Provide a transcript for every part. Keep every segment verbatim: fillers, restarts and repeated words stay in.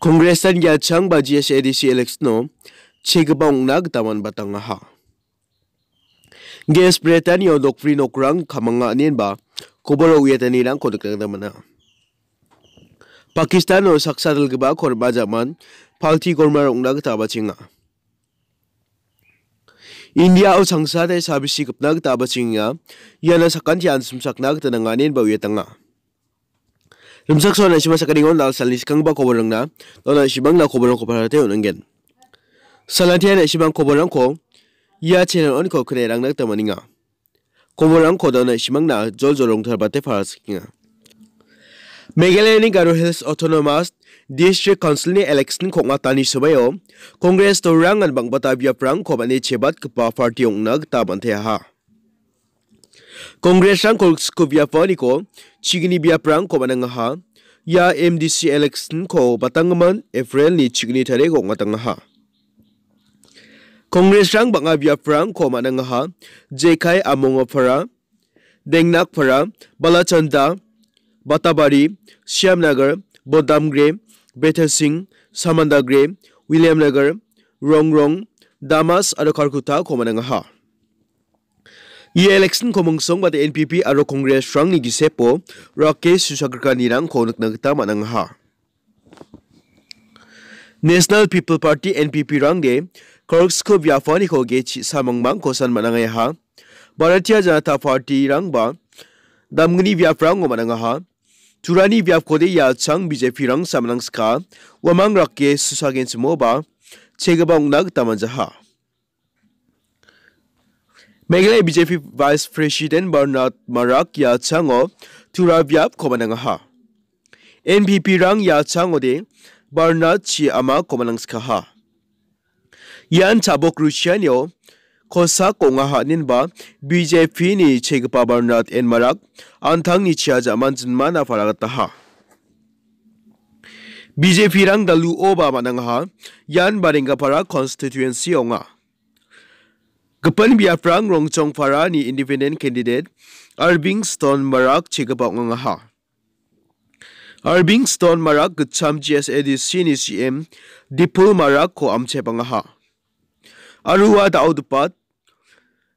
Kongresan Yachang ba G S A D C election-o chegipa ong·na gita man·batangaha. Gas bretanio nokpri nokrang kamanga inenba koboro uiatanirangko nikna gita man·a. Pakistano saksa dilgipa korma jaman palti korma ong·na gita bachenga. Indiao sangsade sabisi gipna gita bachenga. Iana sakanti ansimsakna gita nanganen ba uiatanga. Rimchaksoa na·simang sakaningon dal·salni skanggipa koborangna, dona na·simangna koborangko parate on·angen. Salantia na·simang koborangko ia channel oniko knerangna gita man·enga. Koborangko dona na·simangna jol jol rongtalbate parasikenga. Meghalayani Garo Hills Autonomous District Council-ni election kong·atani somoio Congress dolorangan bang·bata biaprangko man·e chebatgipa party ong·na gita man·teaha. Congress-rang kolgriksku biaponiko chigni biaprangko man·angaha. Ia M D C election-ko batanggimin April-ni chigni tariko ong·atangaha. Congress-rang bang·a biaprangko man·angaha. Jekai Amongapara, Dengnakpara, Balachanda, Batabari, Shyamnagar, Bodamgre, Bethelsing, Samandagre, Williamnagar, Rongrong, Damas aro Kharkutta-ko man·angaha. Ia election-ko mingsongbate N P P aro Congress-rangni gisepo Rakesh Susagrikanirangko nikna gita man·angaha. National People Party, N P P-rangde kolgriksku biaponiko ge chi·sa mangmangko san man·angaha. Bharatiya Janata Party-rangba damgni biaprango man·angaha. Turani biapkode Yachang B J P-rang samnangska, uamang Rakesh Susagenchimoba chegipa ong·na gita man·jaha. Meghalaya B J P Vice President Bernard Marak Yachango Tura biapko man·angaha. N P P-rang Yachangode Bernard Chi Amako man·angskaha. Ian chabok ruchianio kosak ong·aha inenba B J P-ni chegipa Bernard N Marak an·tangni chia ja·man jinmana paragataha. B J P-rang daluoba man·angaha, ian Barenggapara constituency ong·a. Gipin biaprang Rongchongparani independent candidate Arbing Stone Marak chegipa ong·angaha. Arbing Stone Marak gitcham G S A D C-ni C M Dipul Marakko amchepangaha. Aro ua da·o dipat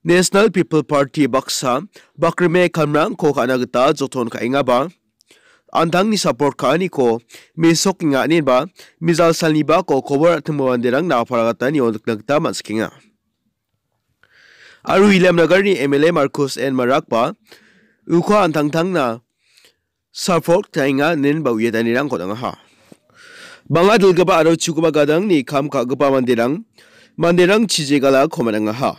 National People Party baksa bakrime kamrangko ka·na gita joton ka·engaba, an·tangni support ka·aniko mesokenga ineba mijal salnibako kobor a·timo manderangna apalagatanio nikna gita man·sikenga. Aro Williamnagarni M L A Marcus N Marakba uko an·tangtangna support ka·enga inenba uiatanirangko on·angaha. Bang·a dilgipa aro chugipa gadangni kam ka·gipa manderang, manderang chijegala komanangaha.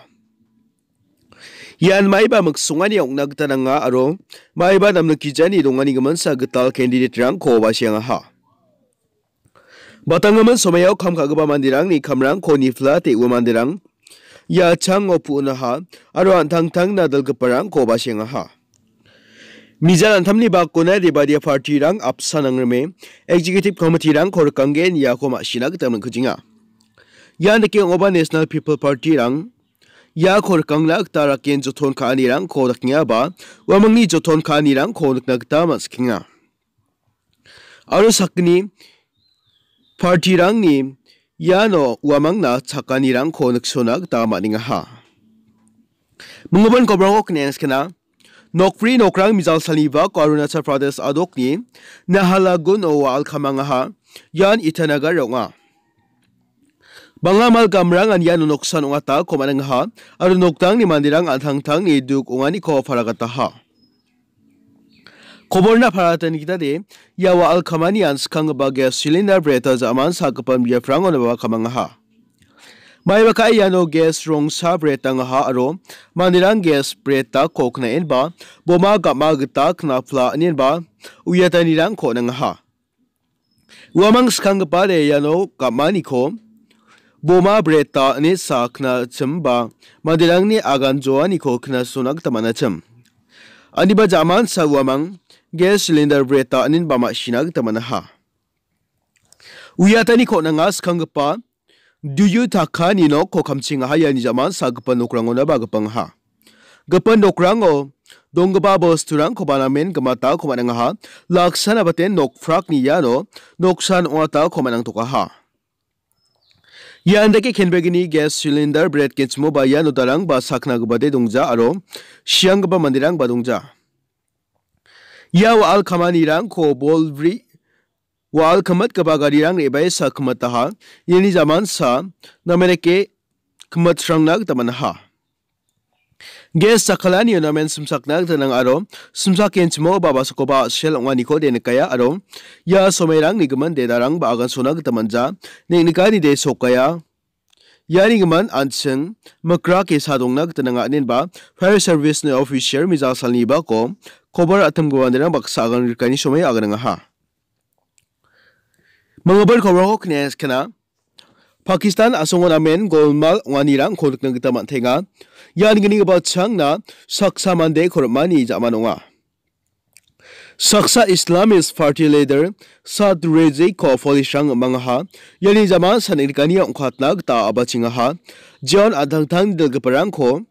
Ian maiba miksongani ong·na gita nanga aro maiba namnikgijani dongani giminsa gital candidate-rangko basengaha. Batanggimin somaio kam ka·gipa manderangni kamrangko niflate ua manderang ia chango pu·naha aro an·tangtangna dilgiparangko basengaha. Mijal antamni bakona Rebadia party-rang apsan nangrime executive committee-rangko rikanggen iako ma·sina gita man·kujenga. Ia dake ong·oba National People Party-rang iako rikangna gita raken joton ka·anirangko dakengaba, uamangni joton ka·anirangko nikna gita man·sikenga. Aro sakgni party-rangni iano uamangna chakanirangko niksona gita man·engaha. Minggimin kobrangko kne·enskena, nokpri nokrang mijal salibako Arunachal Pradesh adokni Nahalagun o wa·al kamangaha, ian Itanagar ong·a. Bang·a mal gamrangan iano noksan ong·atako man·engaha, aro nokdangni manderang an·tangtangni duk ong·aniko paragataha. Koborna paratani gitade, ia wa·al kamanian skanggipa gas cylinder breta ja·man sagipan biaprangonaba kamangaha. Maiba ka·e iano gas rongsa bretangaha aro manderang gas bretako knaenba, boma gam·a gita knapla inenba uiatanirangko on·angaha. Uamang skanggipade iano gam·aniko boma breta ine sakna chimba manderangni agan joaniko knasona gita man·achim. Aniba ja·mansa uamang gas cylinder breta inenba ma·sina gita man·aha. Uiatani kon·anga skanggipa duyu takani nokko kamchingaha iani ja·man sagipa nokrangonaba gipangaha. Gipin nokrango donggipa bosturangkoba namen gimatako man·angaha. Laksana baten nokprakni iano noksan ong·atako man·angtokaha. Ian dake kenbegni gas cylinder bret genchimoba iano darangba sakna gipade dongja aro sianggipa manderangba dongja. Ia wa·al kamanirangko bolbri wa·al kimitgipa garirang re·bae sakgimataha. Iani jamansa namen dake kimitrangna gita man·aha. Gas jakkalani unamen simsakna gita nang aro simsakenchimo babasakoba a·sel ong·aniko de nikaia aro ia somairangni gimin de darangba agansona gita man·ja. Neng·nikani de sokkaia. Iani gimin an·ching mikra ke·sa dongna gita nanga, inenba fire service-ni official mijang salni bako kobar atim gipanirang baksa agan rikani somai aganangaha. Manggipa kobarko kne skena. Pakistan a·songo namen golmal ong·anirangko nikna gita man·tenga. Ian gnigipa changna saksa mande korimani ja·man ong·a. Saksa Islamist Party leader Saad Reziko polisrang mangaha. Iani jama sangrikani ong·katna gita a·bachengaha. Jeon an·tangtangni dilgiparangko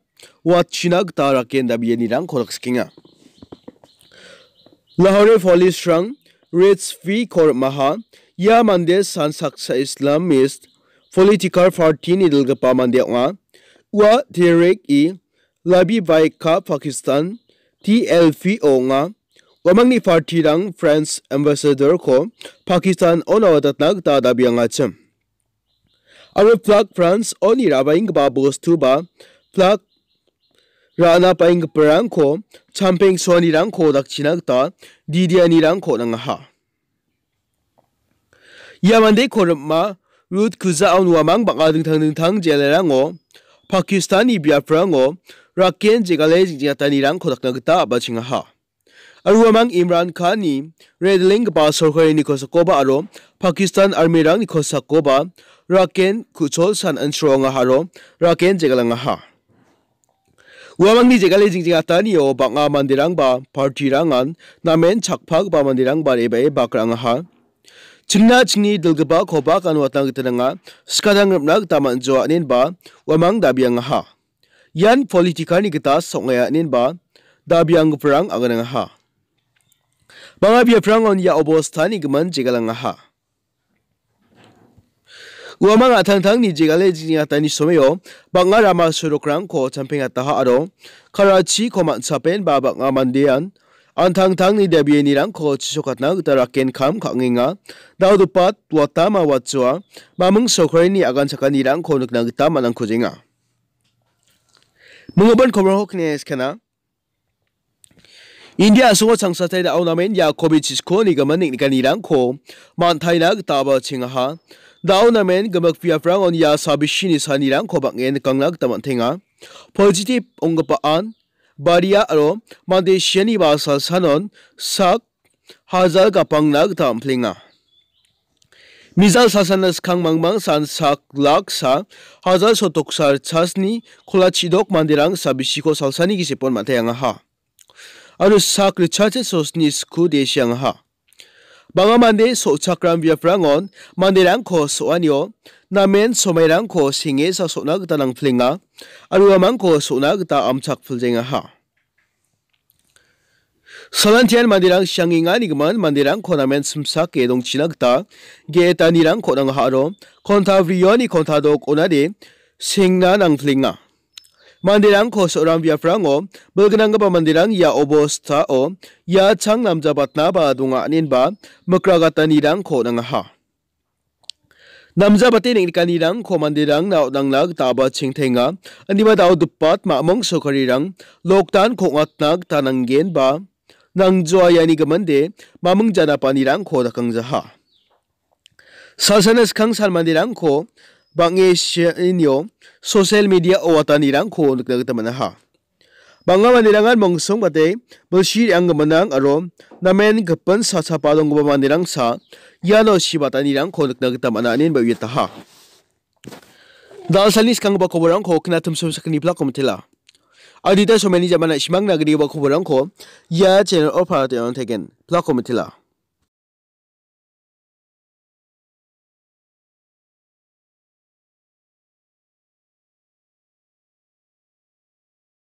watchina gita raken dabianirangko rikskenga. Lahore polisrang Rizvi Kormaha, ia mande san saksa Islamist political party-ni dilgipa mande ong·a. Ua Tehrik-i Labi Baika Pakistan T L P ong·a. Uamangni party-rang France ambassador-ko Pakistan-o nawatatna gita dabiangachim. Aro plak France-oni ra·baenggipa bostu ba plak ra·na paenggiparangko champeng soanirangko dakchina gita didianirangko nangaha. Ia mandeko rim·a rut kujaon uamang bang·a dingtang dingtang jelarango Pakistani biaprango raken jegale jingjatanirangko dakna gita a·bachengaha. Aro uamang Imran Khan-ni redlenggipa sorkarini kosakoba aro Pakistan army-rangni kosakoba raken ku·chol san ansroangaha aro raken jegalangaha. Uamangni jegale jingjingatanio bang·a manderangba party-rangan namen chakpagipa manderangba re·bae bak ra·angaha. Chingna chingni dilgipa kobak ano atna gita nanga, skatang rim·na gita man·joa, inenba uamang dabiangaha. Ian political-ni gita song·aia, inenba dabianggiparang aganangaha. Bang·a biaprangon ia obostani gimin jegalangaha. Uamang a·tangtangni jegale jingjingatani somio bang·a rama sorokrangko champengataha aro Karachi-ko man·sapenba bang·a mandean an·tangtangni dabianirangko chisokatna gita raken kam ka·angenga. Dao dopat watama watjoa maming sorkarini agan chakanirangko nikna gita man·angkujenga. Minggipa kobarko kine skena. India a·songo changsatai da·o namen ia covid chiskoni gimin neng·nikanirangko man·taina gita a·bachengaha. Da·o namen gimik biaprangon ia sabisini sanirangko bang·en nikangna gita man·tenga. Positive ong·gipaan baria aro mande sianiba salsanon sak hajal gapangna gita am·plenga. Mijal salsana skang mangmang san sak lak sa hajal sotoksa ritchasni kola chidok manderang sabisiko salsani gisepon man·taengaha. Aro sak ritchase sosni sku desiangaha. Bang·a mande so·chakram biaprangon manderangko so·anio namen somairangko senge sa so·na gita nangplenga. Aro uamangko so·na gita amchakpiljengaha. Salantian manderang siangengani gimin manderangko namen simsake dongchina gita ge·etanirangko nangaha aro konta brioni konta dok onade sengna nangplenga. Manderangko so·ram biaprango bilgnanggipa manderang ia obostao ia chang namjabatnaba donga, inenba mikragatanirangko nangaha. Namjabate neng·nikanirangko manderangna on·angna gita a·bachengtenga. Indiba dao dopat maming sorkarirang lockdown-ko ong·atna gita nanggenba nangjoa, iani giminde maming janapanirangko dakangjaha. Salsana skang san manderangko bang·e sianio social media-o watanirangko nikna gita man·aha. Bang·a manderangan mongsongbate bilsi re·anggiminrang aro namen gipin sa chapa donggipa manderangsa iano sibatanirangko nikna gita man·a, inenba uiataha. Dalsalni skanggipa koborangko knatimsim sakgni plako mitela. Adita someni jamana simangna grigipa koborangko ia channel-o para teng·tegen plako mitela.